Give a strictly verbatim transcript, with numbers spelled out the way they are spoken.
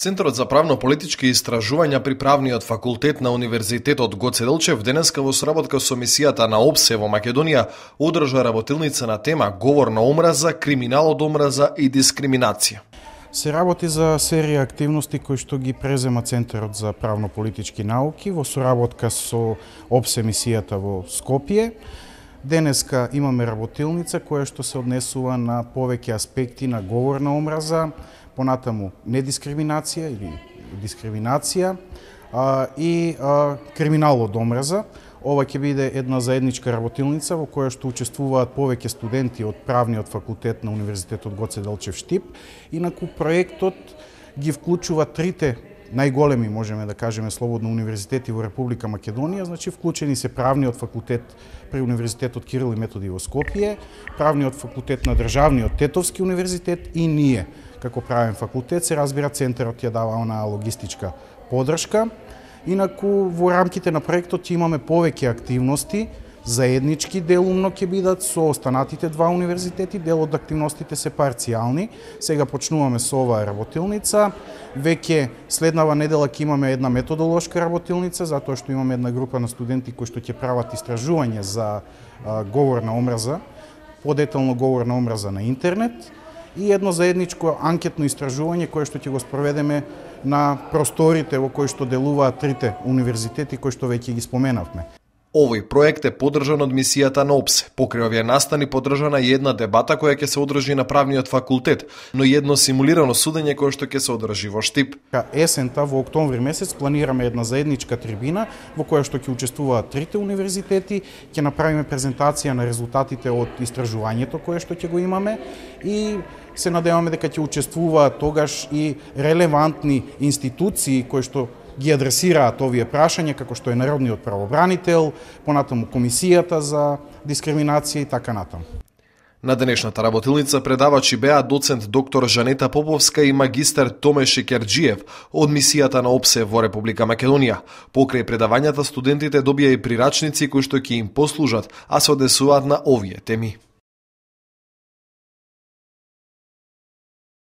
Центарот за правно-политички истражувања при Правниот факултет на Универзитетот Гоце Делчев денеска во соработка со мисијата на ОПСЕ во Македонија одржа работилница на тема говор на омраза, криминал од омраза и дискриминација. Се работи за серија активности кои што ги презема Центарот за правно-политички науки во соработка со ОПСЕ мисијата во Скопје. Денеска имаме работилница која што се однесува на повеќе аспекти на говор на омраза, понатаму недискриминација или дискриминација а, и а, криминал од омраза. Ова ќе биде една заедничка работилница во која што учествуваат повеќе студенти од Правниот факултет на Универзитетот Гоце Делчев Штип. Инаку проектот ги вклучува трите најголеми, можеме да кажеме слободно, универзитети во Република Македонија, значи вклучени се Правниот факултет при Универзитетот Кирил и Методи во Скопје, Правниот факултет на Државниот Тетовски универзитет и ние, како правен факултет, се разбира Центарот ја дава онаа логистичка подршка. Инаку во рамките на проектот ќе имаме повеќе активности, заеднички делумно ќе бидат со останатите два универзитети, дел од активностите се парцијални. Сега почнуваме со оваа работилница, веќе следнава недела ќе имаме една методолошка работилница, затоа што имаме една група на студенти кои што ќе прават истражување за а, говор на омраза, подетално говор на омраза на интернет, и едно заедничко анкетно истражување кое што ќе го спроведеме на просторите во кои што делуваат трите универзитети кои што веќе ги споменавме. Овој проект е поддржан од мисијата на ОПСЕ. Покрај овие настани поддржана и една дебата која ќе се одржи на Правниот факултет, но и едно симулирано судење кое што ќе се одржи во Штип. Есента во октомври месец планираме една заедничка трибина во која што ќе учествуваат трите универзитети, ќе направиме презентација на резултатите од истражувањето кое што ќе го имаме и се надеваме дека ќе учествуваат тогаш и релевантни институции кои што ги адресираат овие прашања, како што е Народниот правобранител, понатаму Комисијата за дискриминација и така натаму. На денешната работилница предавачи беа доцент доктор Жанета Поповска и магистар Томеши Керџиев од мисијата на ОПСЕ во Република Македонија. Покрај предавањата студентите добија и прирачници кои што ќе им послужат, а се однесуваат на овие теми.